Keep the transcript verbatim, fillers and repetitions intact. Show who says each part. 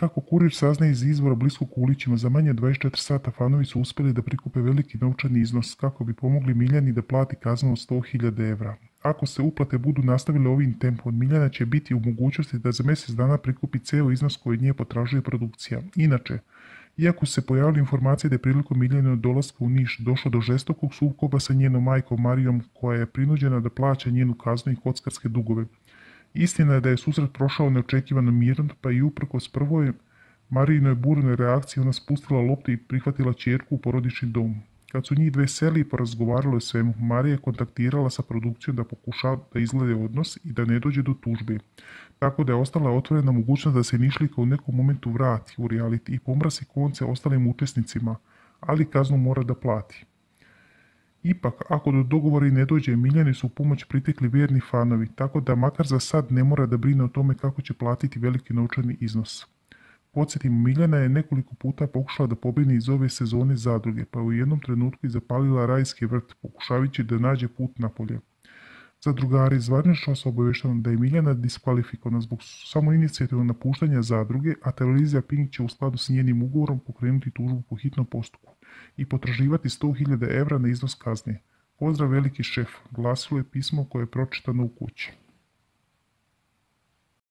Speaker 1: Kako kurir saznaje iz izvora bliskog Kulićima, za manje od dvadeset četiri sata fanovi su uspjeli da prikupe veliki novčani iznos kako bi pomogli Miljani da plati kaznu od sto hiljada evra. Ako se uplate budu nastavile ovim tempom, Miljana će biti u mogućnosti da za mjesec dana prikupi ceo iznos koji od nje potražuje produkcija. Inače, iako su se pojavile informacije da je prilikom Miljanog dolaska u Niš došlo do žestokog sukoba sa njenom majkom Marijom, koja je prinuđena da plaća njenu kaznu i kockarske dugove. Istina je da je susret prošao neočekivano mirno, pa i uprkos prvoj Marijinoj burnoj reakciji ona spustila loptu i prihvatila ćerku u porodični dom. Kad su njih dve seli i porazgovarali o svemu, Marija je kontaktirala sa produkcijom da pokuša da izglede odnos i da ne dođe do tužbe. Tako da je ostala otvorena mogućnost da se Nišlika u nekom momentu vrati u reality i pomrasi konce ostalim učesnicima, ali kaznu mora da plati. Ipak, ako do dogovora i ne dođe, Miljani su u pomoć pritekli vjerni fanovi, tako da makar za sad ne mora da brine o tome kako će platiti veliki novčani iznos. Podsjetimo, Miljana je nekoliko puta pokušala da pobjegne iz ove sezone zadruge, pa u jednom trenutku i zapalila rajski vrt, pokušavajući da nađe put napolje. Zadrugari zvanično su obavešteni da je Miljana diskvalifikovana zbog samoinicijativnog napuštanja zadruge, a televizija Pink će u skladu s njenim ugovorom pokrenuti tužbu po hitnom postupku i potraživati sto hiljada evra na iznos kazne. Pozdrav veliki šef, glasilo je pismo koje je pročitano u kući.